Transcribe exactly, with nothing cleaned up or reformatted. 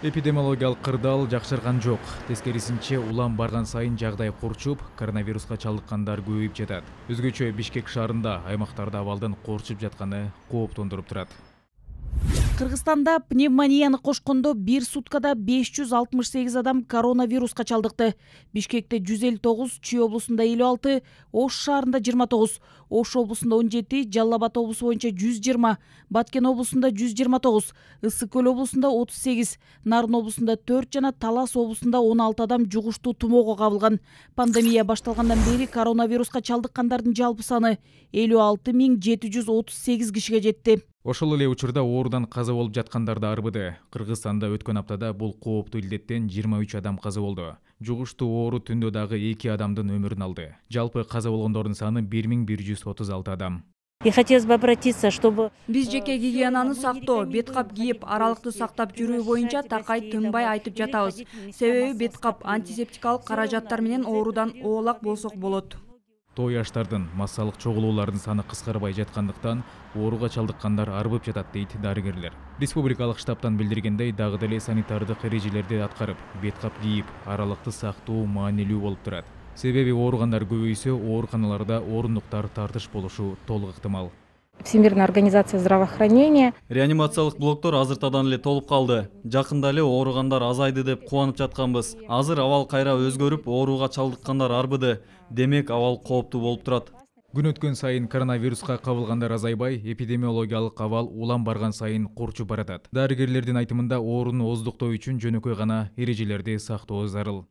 Эпидемиологиялык кырдаал жакшырган жок. Тескерисинче, улам барган сайын жагдай курчуп, коронавируска чалдыккандар көбөйүп жатат. Өзгөчө Бишкек шаарында аймактарда абалдын корчуп жатканы кооптондуруп турат. Кыргызстанда пневмонияны кошкондо бир суткада беш жүз алтымыш сегиз адам коронавируска чалдыкты. Бишкекте жүз элүү тогуз, Чүй облусунда элүү алты, Ош шаарында жыйырма тогуз, Ош облусунда он жети, Жалал Абад облусу боюнча жүз жыйырма, Баткен облусунда жүз жыйырма тогуз, Ысык көл облусунда отуз сегиз, Нарын облусунда төрт жана Талас облусунда он алты адам жугуштуу тумоого кабылган. Пандемия башталгандан бери коронавируска чалдыккандардын жалпы саны элүү алты миң жети жүз отуз сегиз кишиге жетти. Ошол эле учурда оорудан каза болуп жаткандар да арбыды. Кыргызстанда өткөн аптада бул кооптуу илдеттен жыйырма үч адам каза болду. Жугуштуу оору түндө дагы эки адамдын өмүрүн алды. Жалпы каза болгондордун саны бир миң бир жүз отуз алты адам. И хотелось бы обратиться, чтобы биз жеке гигиенаны сактоо, бет кап кийип, аралыкты сактап жүрүү боюнча такай тынбай айтып жатабыз. Себеби бет кап, антисептикалык каражаттар менен оорудан оолак болсок болот. Той аштардын, массалык чогулуулардын саны кыскарбай жаткандыктан ооруга чалдыккандар арбып жатат дейт дарыгерлер. Республикалык штабтан билдиргендей, дагы деле санитардык эрежелерди аткарып, бет кап кийип, аралыкты сактоо маанилүү болуп турат. Себеби ооругандар көбөйсө, ооруканаларда орундуктар тартыш болушу толук ыктымал. Всемирная организация здравоохранения реанимациялык блоктор азыртадан эле толуп калды. Жакында эле ооругандар азайды деп кубанып жатканбыз. Азыр абал кайра өзгөрүп, ооруга чалдыккандар арбыды. Демек, абал кооптуу болуп турат. Күн өткөн сайын коронавируска кабылгандар азайбай, эпидемиологиялык абал улам барган сайын курчуп баратат. Дарыгерлердин айтымында, оорууну ооздуктоо үчүн жөнөкөй гана эрежелерди сактоо зарыл.